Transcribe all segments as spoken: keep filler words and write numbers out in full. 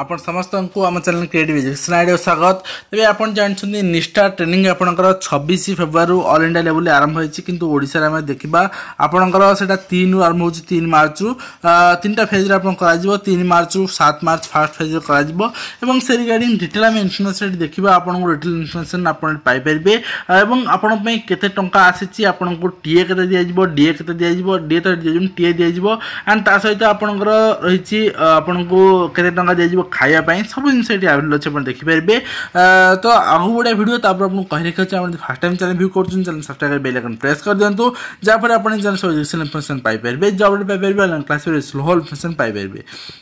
ଆପଣ ସମସ୍ତଙ୍କୁ ଆମ ଚ୍ୟାନେଲ୍ କ୍ରିଏଟିଭ୍ ଏଜୁକେସନ୍ ଆଇଡ଼ିଆ ସ୍ୱାଗତ। ତେବେ ଆପଣ ଜାଣିଛନ୍ତି, ନିଷ୍ଠା ଟ୍ରେନିଂ ଆପଣଙ୍କର ଛବିଶ ଫେବୃଆରୀରୁ ଅଲ୍ ଇଣ୍ଡିଆ ଲେଭେଲରେ ଆରମ୍ଭ ହୋଇଛି। କିନ୍ତୁ ଓଡ଼ିଶାରେ ଆମେ ଦେଖିବା, ଆପଣଙ୍କର ସେଇଟା ତିନିରୁ ଆରମ୍ଭ ହେଉଛି, ତିନି ମାର୍ଚ୍ଚରୁ। ତିନିଟା ଫେଜ୍ରେ ଆପଣ କରାଯିବ। ତିନି ମାର୍ଚ୍ଚରୁ ସାତ ମାର୍ଚ୍ଚ ଫାର୍ଷ୍ଟ ଫେଜ୍ରେ କରାଯିବ ଏବଂ ସେ ରିଗାର୍ଡ଼ିଂ ଡିଟେଲ୍ ଆମେ ଇନଫର୍ମେସନ୍ ଏଠି ଦେଖିବା। ଆପଣଙ୍କୁ ଡିଟେଲ୍ ଇନଫର୍ମେସନ୍ ଆପଣ ପାଇପାରିବେ ଏବଂ ଆପଣଙ୍କ ପାଇଁ କେତେ ଟଙ୍କା ଆସିଛି, ଆପଣଙ୍କୁ ଟିଏ କେତେ ଦିଆଯିବ, ଡିଏ କେତେ ଦିଆଯିବ, ଡିଏ ତ ଦିଆଯିବ, ଟିଏ ଦିଆଯିବ ଆଣ୍ଡ ତା ସହିତ ଆପଣଙ୍କର ରହିଛି ଆପଣଙ୍କୁ କେତେ ଟଙ୍କା ଦିଆଯିବ ଖାଇବା ପାଇଁ, ସବୁ ଜିନିଷ ଏଠି ଆଭେଲେବଲ୍ ଅଛି, ଆପଣ ଦେଖିପାରିବେ। ତ ଆଗକୁ ବଢ଼ିଆ ଭିଡ଼ିଓ। ତାପରେ ଆପଣଙ୍କୁ କହି ରଖିଛି, ଆପଣ ଫାର୍ଷ୍ଟ ଟାଇମ୍ ଚ୍ୟାନେଲ୍ ଭ୍ୟୁ କରୁଛନ୍ତି, channel subscribe bail icon press କରିଦିଅନ୍ତୁ, ଯାହାଫଳରେ ଆପଣ ଚ୍ୟାନେଲ୍ ସବୁ ଏଜୁକେସନ୍ ଇନଫର୍ମେସନ୍ ପାଇପାରିବେ, ଜବ୍ ପାଇପାରିବେ, ଅନଲାଇନ୍ କ୍ଲାସ୍ ସ୍ଲୋ ଇନଫର୍ମେସନ୍ ପାଇପାରିବେ।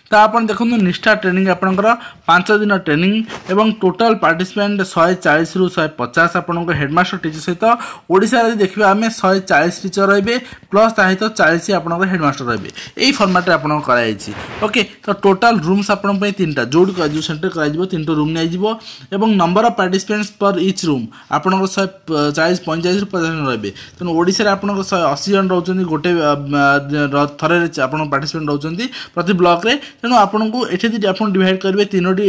ତ ଆପଣ ଦେଖନ୍ତୁ, ନିଷ୍ଠା ଟ୍ରେନିଂ ଆପଣଙ୍କର ପାଞ୍ଚ ଦିନ ଟ୍ରେନିଂ ଏବଂ ଟୋଟାଲ୍ ପାର୍ଟିସିପେଣ୍ଟ ଶହେ ଚାଳିଶରୁ ଶହେ ପଚାଶ, ଆପଣଙ୍କ ହେଡ଼ମାଷ୍ଟର ଟିଚର ସହିତ। ଓଡ଼ିଶାରେ ଯଦି ଦେଖିବା ଆମେ, ଶହେ ଚାଳିଶ ଟିଚର ରହିବେ, ପ୍ଲସ୍ ତା ସହିତ ଚାଳିଶ ଆପଣଙ୍କର ହେଡ଼ମାଷ୍ଟର ରହିବେ। ଏଇ ଫର୍ମାଟ୍ରେ ଆପଣଙ୍କର କରାଯାଇଛି। ଓକେ, ତ ଟୋଟାଲ୍ ରୁମ୍ସ ଆପଣଙ୍କ ପାଇଁ ତିନିଟା, ଯେଉଁଠି ଯେଉଁ ସେଣ୍ଟର କରାଯିବ, ତିନିଟା ରୁମ୍ ନିଆଯିବ ଏବଂ number of participants per each room ଆପଣଙ୍କର ଶହେ ଚାଳିଶ, ପଇଁଚାଳିଶରୁ ପଚାଶ ଜଣ ରହିବେ। ତେଣୁ ଓଡ଼ିଶାରେ ଆପଣଙ୍କର ଶହେ ଅଶୀ ଜଣ ରହୁଛନ୍ତି, ଗୋଟେ ଥରରେ ଆପଣ ପାର୍ଟିସିପେଣ୍ଟ ରହୁଛନ୍ତି ପ୍ରତି ବ୍ଲକରେ। ତେଣୁ ଆପଣଙ୍କୁ ଏଠି ଯଦି ଆପଣ ଡିଭାଇଡ଼ କରିବେ, ତିନୋଟି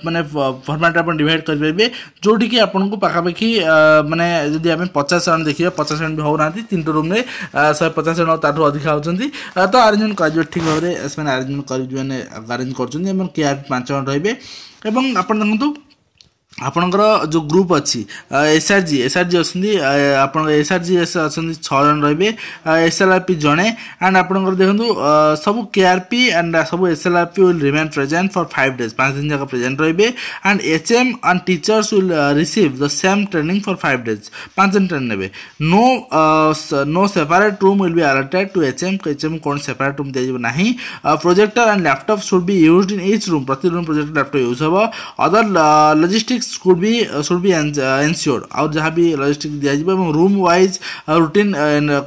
ମାନେ ଫର୍ମାଟ୍ରେ ଆପଣ ଡିଭାଇଡ଼ କରିପାରିବେ, ଯେଉଁଠିକି ଆପଣଙ୍କୁ ପାଖାପାଖି ମାନେ ଯଦି ଆମେ ପଚାଶ ଜଣ ଦେଖିବା, ପଚାଶ ଜଣ ବି ହେଉନାହାନ୍ତି। ତିନିଟା ରୁମ୍ରେ ଶହେ ପଚାଶ ଜଣ, ତାଠୁ ଅଧିକା ହେଉଛନ୍ତି। ତ ଆରେଞ୍ଜମେଣ୍ଟ କରାଯିବ ଠିକ୍ ଭାବରେ, ସେମାନେ ଆରେଞ୍ଜମେଣ୍ଟ କରି ମାନେ ଆରେଞ୍ଜ କରୁଛନ୍ତି ଏବଂ କେଆର୍ ପାଞ୍ଚ ଜଣ ରହିବେ। ଏବଂ ଆପଣ ଦେଖନ୍ତୁ, ଆପଣଙ୍କର ଯେଉଁ ଗ୍ରୁପ୍ ଅଛି, S R G S R G ଅଛନ୍ତି, ଆପଣଙ୍କର ଏସ୍ ଆର୍ ଜି ଏସ୍ ଅଛନ୍ତି, ଛଅ ଜଣ ରହିବେ, ଏସ୍ ଏଲ୍ ଆର୍ ପି ଜଣେ। ଆଣ୍ଡ ଆପଣଙ୍କର ଦେଖନ୍ତୁ, ସବୁ କେ ଆର୍ ପି ଆଣ୍ଡ ସବୁ S L R P will remain present for five days, ପାଞ୍ଚ ଦିନ ଯାକ ପ୍ରେଜେଣ୍ଟ ରହିବେ। And H M and teachers will receive the same training for five days, ପାଞ୍ଚ ଦିନ ଟ୍ରେନିଂ ନେବେ। No no separate room will be allotted to H M. H M କୌଣସି separate room ଦିଆଯିବ ନାହିଁ। Projector and laptop should be used in each room. ପ୍ରତି room ପ୍ରୋଜେକ୍ଟର, laptop use ହେବ। Other logistics could be should be ensured. ଆଉ ଯାହା ବି logistic ଦିଆଯିବ ଏବଂ room wise routine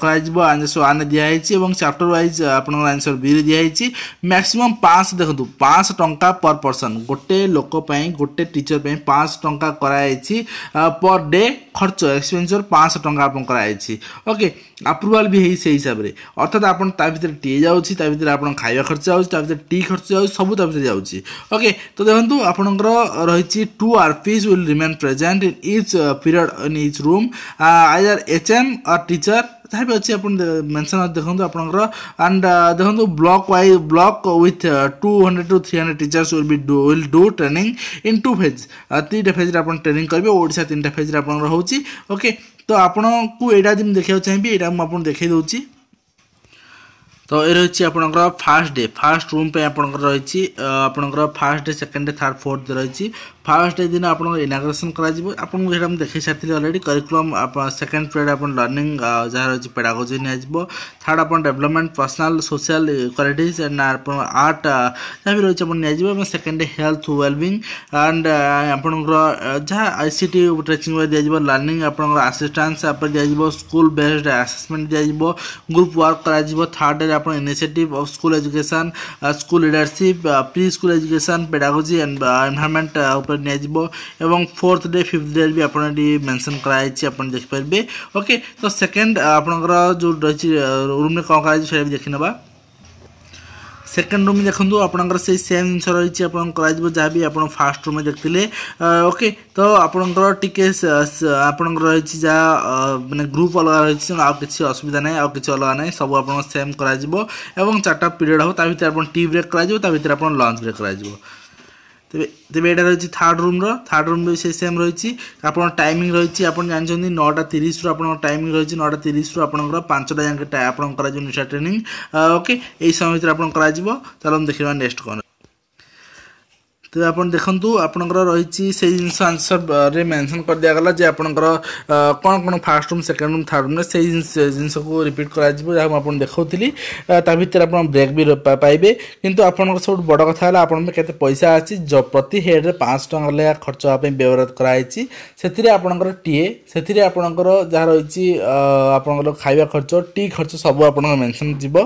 କରାଯିବ, ଆନ୍ସର ୱାନ୍ରେ ଦିଆହେଇଛି ଏବଂ ଚାପ୍ଟର ୱାଇଜ୍ ଆପଣଙ୍କର ଆନ୍ସର ବିରେ ଦିଆହେଇଛି। ମ୍ୟାକ୍ସିମମ୍ ପାଞ୍ଚଶହ, ଦେଖନ୍ତୁ, ପାଞ୍ଚଶହ ଟଙ୍କା ପର୍ ପର୍ସନ୍, ଗୋଟେ ଲୋକ ପାଇଁ, ଗୋଟେ ଟିଚର ପାଇଁ ପାଞ୍ଚଶହ ଟଙ୍କା କରାଯାଇଛି। ପର୍ ଡେ ଖର୍ଚ୍ଚ, ଏକ୍ସପେନ୍ସର ପାଞ୍ଚଶହ ଟଙ୍କା ଆପଣ କରାଯାଇଛି। ଓକେ, ଆପ୍ରୁଭାଲ୍ ବି ହେଇ ସେଇ ହିସାବରେ। ଅର୍ଥାତ୍ ଆପଣ ତା ଭିତରେ ଟିଏ ଯାଉଛି, ତା ଭିତରେ ଆପଣ ଖାଇବା ଖର୍ଚ୍ଚ ଯାଉଛି, ତା ଭିତରେ ଟି ଖର୍ଚ୍ଚ ଯାଉଛି, ସବୁ ତା ଭିତରେ ଯାଉଛି। ଓକେ, ତ ଦେଖନ୍ତୁ, ଆପଣଙ୍କର ରହିଛି two R Ps will remain present in each uh, period in each room, uh, either H M or teacher, ଯାହା ବି ଅଛି ଆପଣ ମେନସନ୍ ଦେଖନ୍ତୁ ଆପଣଙ୍କର। ଆଣ୍ଡ ଦେଖନ୍ତୁ, block wise block with two hundred to three hundred teachers will be will do training in two phase. ତିନିଟା ଫେଜ୍ରେ ଆପଣ training କରିବେ। ଓଡ଼ିଶା ତିନିଟା ଫେଜ୍ରେ ଆପଣଙ୍କର ହେଉଛି। ଓକେ, ତ ଆପଣଙ୍କୁ ଏଇଟା ଯଦି ମୁଁ ଦେଖିବାକୁ ଚାହିଁବି, ଏଇଟା ମୁଁ ଆପଣଙ୍କୁ ଦେଖାଇ ଦେଉଛି। ତ ଏ ରହିଛି ଆପଣଙ୍କର ଫାର୍ଷ୍ଟ ଡେ, ଫାର୍ଷ୍ଟ ରୁମ୍ ପାଇଁ ଆପଣଙ୍କର ରହିଛି ଆପଣଙ୍କର first day, second day, third, fourth ରହିଛି। ଫାର୍ଷ୍ଟ ଡେ ଦିନ ଆପଣଙ୍କର ଇନାଗ୍ରେସନ୍ କରାଯିବ। ଆପଣଙ୍କୁ ସେଇଟା ମୁଁ ଦେଖାଇ ସାରିଥିଲି ଅଲରେଡ଼ି। କରିକୁଲମ୍ ଆପଣ, ସେକେଣ୍ଡ ପିରିୟଡ଼ ଆପଣ ଲର୍ଣ୍ଣିଂ ଯାହା ରହିଛି, ପେଡ଼ାଗୋଜି ନିଆଯିବ। ଥାର୍ଡ଼ ଆପଣ development personal social qualities and ଆପଣ ଆର୍ଟ ଯାହା ବି ରହିଛି ଆପଣ ନିଆଯିବ ଏବଂ second day health wellbeing and ଆପଣଙ୍କର ଯାହା I C T teaching ଦିଆଯିବ। ଲର୍ଣ୍ଣିଂ ଆପଣଙ୍କର ଆସିଷ୍ଟାନ୍ସ ଉପରେ ଦିଆଯିବ, ସ୍କୁଲ ବେସ୍ଡ ଆସେସମେଣ୍ଟ ଦିଆଯିବ, ଗ୍ରୁପ୍ ୱାର୍କ କରାଯିବ। ଥାର୍ଡ଼ ଡେରେ ଆପଣ initiative of school education, school leadership, pre school education, pedagogy and environment ଉପରେ ନିଆଯିବ ଏବଂ ଫୋର୍ଥ ଡେ, ଫିଫ୍ଥ ଡେ ବି ଆପଣ ଏଠି ମେନସନ୍ କରାଯାଇଛି, ଆପଣ ଦେଖିପାରିବେ। ଓକେ, ତ ସେକେଣ୍ଡ ଆପଣଙ୍କର ଯେଉଁ ରହିଛି ରୁମ୍ରେ କ'ଣ କରାଯାଇଛି, ସେଇଟା ବି ଦେଖିନେବା। ସେକେଣ୍ଡ ରୁମ୍ ଦେଖନ୍ତୁ, ଆପଣଙ୍କର ସେଇ ସେମ୍ ଜିନିଷ ରହିଛି, ଆପଣଙ୍କ କରାଯିବ ଯାହା ବି ଆପଣ ଫାର୍ଷ୍ଟ ରୁମ୍ରେ ଦେଖିଥିଲେ। ଓକେ, ତ ଆପଣଙ୍କର ଟିକେ ଆପଣଙ୍କର ରହିଛି ଯାହା ମାନେ ଗ୍ରୁପ୍ ଅଲଗା ରହିଛି, ଆଉ କିଛି ଅସୁବିଧା ନାହିଁ, ଆଉ କିଛି ଅଲଗା ନାହିଁ, ସବୁ ଆପଣଙ୍କ ସେମ୍ କରାଯିବ ଏବଂ ଚାରିଟା ପିରିୟଡ଼ ହେବ। ତା ଭିତରେ ଆପଣ ଟି ବ୍ରେକ୍ କରାଯିବ, ତା ଭିତରେ ଆପଣ ଲଞ୍ଚ ବ୍ରେକ୍ କରାଯିବ। ତେବେ ତେବେ ଏଇଟା ରହିଛି ଥାର୍ଡ଼ ରୁମ୍ର। ଥାର୍ଡ଼ ରୁମ୍ ବି ସେଇ ସେମ୍ ରହିଛି। ଆପଣ ଟାଇମିଂ ରହିଛି, ଆପଣ ଜାଣିଛନ୍ତି, ନଅଟା ତିରିଶରୁ ଆପଣଙ୍କ ଟାଇମିଂ ରହିଛି। ନଅଟା ତିରିଶରୁ ଆପଣଙ୍କର ପାଞ୍ଚଟା ଯାକେ ଆପଣଙ୍କ କରାଯିବ ନିଶା ଟ୍ରେନିଂ। ଓକେ, ଏଇ ସମୟ ଭିତରେ ଆପଣ କରାଯିବ। ଚାଲନ୍ତୁ ଦେଖିବା ନେକ୍ସଟ କ'ଣ। ତେବେ ଆପଣ ଦେଖନ୍ତୁ, ଆପଣଙ୍କର ରହିଛି ସେଇ ଜିନିଷ ଆନ୍ସରରେ ମେନସନ୍ କରିଦିଆଗଲା ଯେ ଆପଣଙ୍କର କ'ଣ କ'ଣ first room, second room, third ରୁମ୍ରେ ସେଇ ଜିନିଷକୁ ରିପିଟ୍ କରାଯିବ, ଯାହା ମୁଁ ଆପଣଙ୍କୁ ଦେଖାଉଥିଲି। ତା ଭିତରେ ଆପଣ ବ୍ରେକ୍ ବି ପାଇବେ। କିନ୍ତୁ ଆପଣଙ୍କର ସବୁଠୁ ବଡ଼ କଥା ହେଲା, ଆପଣଙ୍କ କେତେ ପଇସା ଅଛି। ପ୍ରତି ହେଡ଼୍ରେ ପାଞ୍ଚଶହ ଟଙ୍କା ଲେଖା ଖର୍ଚ୍ଚ ହେବା ପାଇଁ ବ୍ୟବହାର କରାଯାଇଛି। ସେଥିରେ ଆପଣଙ୍କର ଟିଏ, ସେଥିରେ ଆପଣଙ୍କର ଯାହା ରହିଛି, ଆପଣଙ୍କର ଖାଇବା ଖର୍ଚ୍ଚ, ଟି ଖର୍ଚ୍ଚ, ସବୁ ଆପଣଙ୍କ ମେନସନ୍ ଯିବ।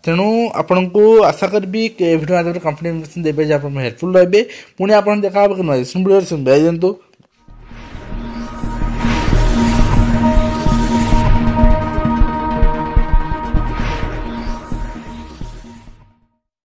ତେଣୁ ଆପଣଙ୍କୁ ଆଶା କରିବି ଏ ଭିଡ଼ିଓ ମାଧ୍ୟମରେ କମ୍ପ୍ଲିଟ୍ ଇନଫର୍ମେସନ୍ ଦେବେ ଯେ ଆପଣ ହେଲ୍ପଫୁଲ୍ ରହିବେ। ପୁଣି ଆପଣ ଦେଖା ହେବ ନୂଆ ଭିଡ଼ିଓରେ। ଦିଅନ୍ତୁ।